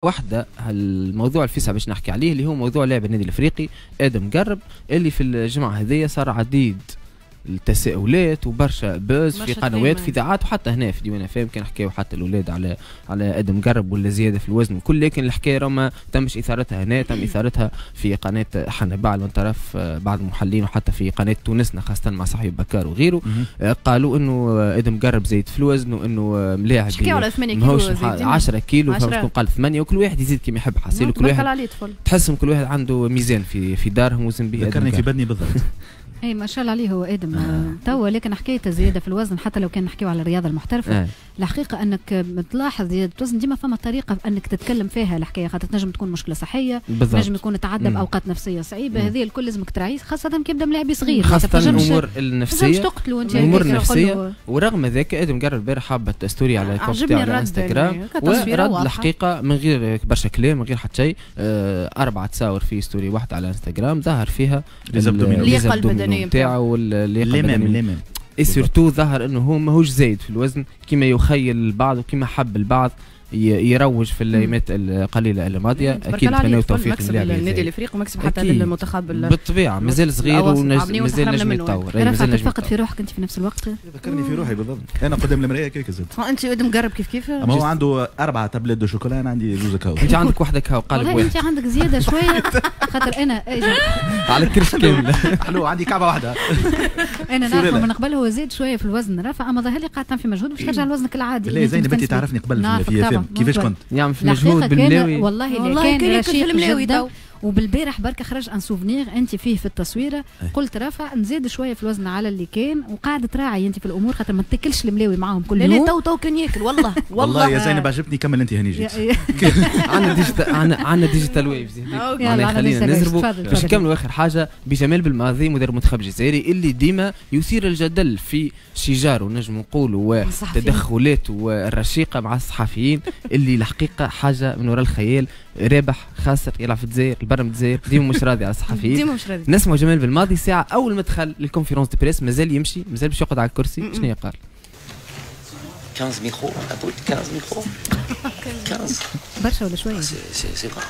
واحدة الموضوع الفيسع باش نحكي عليه اللي هو موضوع لاعب النادي الافريقي ادم قرب، اللي في الجمعة هذية صار عديد التساؤلات وبرشا buzz في قنوات في اذاعات وحتى هنا في ديوان فام كان حكاو حتى الاولاد على ادم قرب ولا زيادة في الوزن وكل، لكن الحكاية راه ما تمش اثارتها هنا، تم اثارتها في قناة حنبعل من طرف بعض المحللين وحتى في قناة تونسنا خاصة مع صاحب بكار وغيره. قالوا انه ادم قرب زايد في الوزن وانه ملاعب حكاو على 8 كيلو 10 كيلو، فما قال 8، وكل واحد يزيد كما يحب حصيل، وكل واحد تحسهم كل واحد عنده ميزان في دارهم وزن به. ذكرني في بدني بالضبط. اي ما شاء الله عليه هو ادم توا، لكن حكاية الزيادة في الوزن حتى لو كان نحكيو على الرياضة المحترفه الحقيقة انك تلاحظ زيادة الوزن ديما فما طريقه انك تتكلم فيها الحكاية، خاطر تنجم تكون مشكلة صحية، تنجم تكون تعدى باوقات نفسية صعيبة، هذه الكل لازمك تراعيه خاصة كي يبدا ملاعب صغير، خاصة الامور النفسية الامور النفسية. ورغم ذلك ادم قرب البارح حبت story على ال compte على انستغرام ورد الحقيقة من غير برشا كلام من غير حتى شيء، 4 تصاور في story واحدة على انستغرام ظهر فيها اللياقة البدنية نتاعو واللياقه البدنية، et surtout ظهر انه هو ماهوش زايد في الوزن كما يخيل البعض وكما حب البعض يروج في الايامات القليلة الماضية. اكيد نتمناو التوفيق للاعب النادي الافريقي ومكسب حتى للمنتخب بالطبيعة، مازال صغير ومازال نجم يتطور. رفعت تفقد في روحك انت في نفس الوقت، ذكرني في روحي بالضبط، انا قدام المراية كيك زاد. انت ادم قرب كيف كيف، اما هو عنده 4 tablettes de chocolat، انا عندي 2 كاو. انت عندك واحدة كاو قالب واحد، انت عندك زيادة شوية خاطر انا على الكرش كاملة حلو عندي كعبه واحدة. انا نعرفه من قبل هو زاد شوية في الوزن رافع، اما ظهر لي قاعد في مجهود باش ترجع لوزنك العادي. لا زينب انت تعرفني قبل في كيفاش كنت يعمل في مجهود بالملاوي، والله كان رشيق جدا. وبالبارح بركة خرج un souvenir انت فيه في التصويره، قلت رافع نزيد شوية في الوزن على اللي كان، وقاعدة تراعي انت في الامور خاطر ما تاكلش الملاوي معاهم كل يوم. لا لا تو كان ياكل والله والله يا زينب عجبتني، كمل انت هاني جيت. عندنا digital، عندنا digital waves، معناها خلينا نزربوا باش نكملوا اخر حاجة بجمال بالماضي مدرب المنتخب الجزائري اللي ديما يثير الجدل في شجاره نجم نقولوا وتدخلاته والرشيقه مع الصحفيين اللي الحقيقة حاجة من وراء الخيال، رابح خاسر يلعب في الجزائر البرم الجزائر ديما مش راضي على الصحفيين، ديما مش راضي. نسمعوا جمال بالماضي ساعة اول ما دخل لل conférence de presse مازال يمشي مازال باش يقعد على الكرسي، شنو قال؟ 15 micros، 15 micros 15 برشا ولا شوية؟ c'est grave.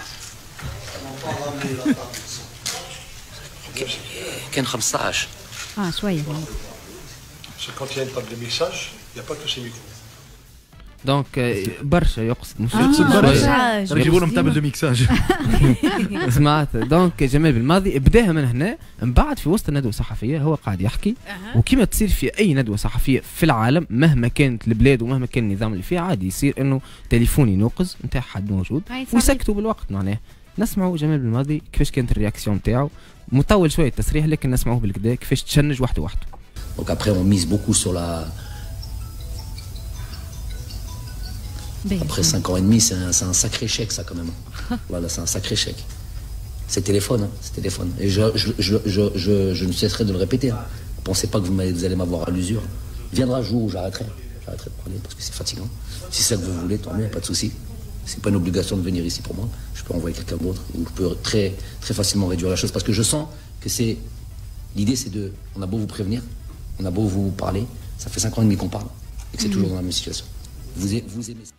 كان 15 شوية. C'est quand il y a une table de mixage, il n'y a pas que ces micros. donc برشا يقصد مش يقصد برشا، يجيبوا لهم table de mixage. سمعت donc جمال بالماضي بداها من هنا، من بعد في وسط الندوة الصحفية هو قاعد يحكي، وكما تصير في اي ندوه صحفية في العالم مهما كانت البلاد ومهما كان النظام اللي فيه عادي يصير انه تليفون ينوقز نتاع حد موجود ويسكتوا بالوقت. معناه نسمعوا جمال بالماضي كيفاش كانت ال réaction نتاعو، مطول شوية التصريح لكن نسمعوه بالكدا كيفاش تشنج وحده وحده. Donc après on mise beaucoup sur la. Après 5 ans et demi, c'est un sacré chèque, ça, quand même. Voilà, c'est un sacré chèque. C'est téléphone, hein, c'est téléphone. Et je ne cesserai de le répéter. Hein. Pensez pas que vous allez m'avoir à l'usure. Viendra le jour où j'arrêterai. J'arrêterai de parler parce que c'est fatigant. Si c'est ça que vous voulez, tant mieux, pas de souci. C'est pas une obligation de venir ici pour moi. Je peux envoyer quelqu'un d'autre ou je peux très, très facilement réduire la chose parce que je sens que c'est... L'idée, c'est de... On a beau vous prévenir, on a beau vous parler, ça fait 5 ans et demi qu'on parle et que c'est toujours dans la même situation. Vous aimez ça.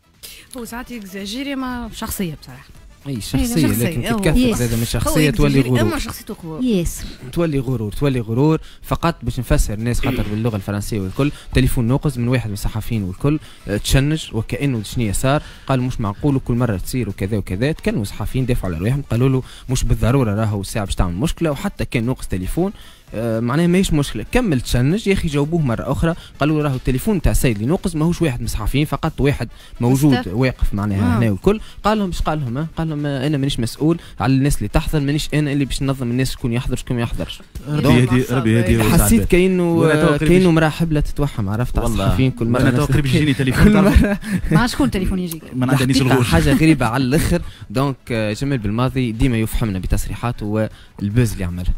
هو ساعات يكزاجيري ما شخصية بصراحة. اي شخصية لكن تتكثر زاد من شخصية تولي غرور. اما شخصيته قوية. ياسر. تولي غرور، تولي غرور فقط باش نفسر الناس خاطر باللغة الفرنسية والكل، تليفون نوقز من واحد من الصحفيين والكل تشنج وكأنه شنو صار، قالوا مش معقول وكل مرة تصير وكذا وكذا، تكلموا الصحفيين دافعوا على رواحهم قالوا له مش بالضرورة راهو الساعة باش تعمل مشكلة وحتى كان نوقز تليفون معناها ماهيش مشكلة، كمل تشنج يا اخي جاوبوه مرة اخرى قالوا راهو التليفون تاع السيد اللي نوقز ماهوش واحد من الصحفيين فقط واحد موجود واقف معناها هنا والكل، قال لهم اش قال لهم؟ قال لهم انا مانيش مسؤول على الناس اللي تحضر، مانيش انا اللي باش ننظم الناس شكون يحضر شكون ما يحضرش. ربي يهدي ربي يهدي. حسيت كانه مراة حبلة تتوحم عرفت على الصحفيين كل مرة. انا تو قريب يجيني تليفون مع شكون تليفون يجيك؟ من عند انيس الغوش. حاجة غريبة على الاخر. donc جمال بالماضي ديما يفحمنا بتصريحاته وال buzz اللي عملها.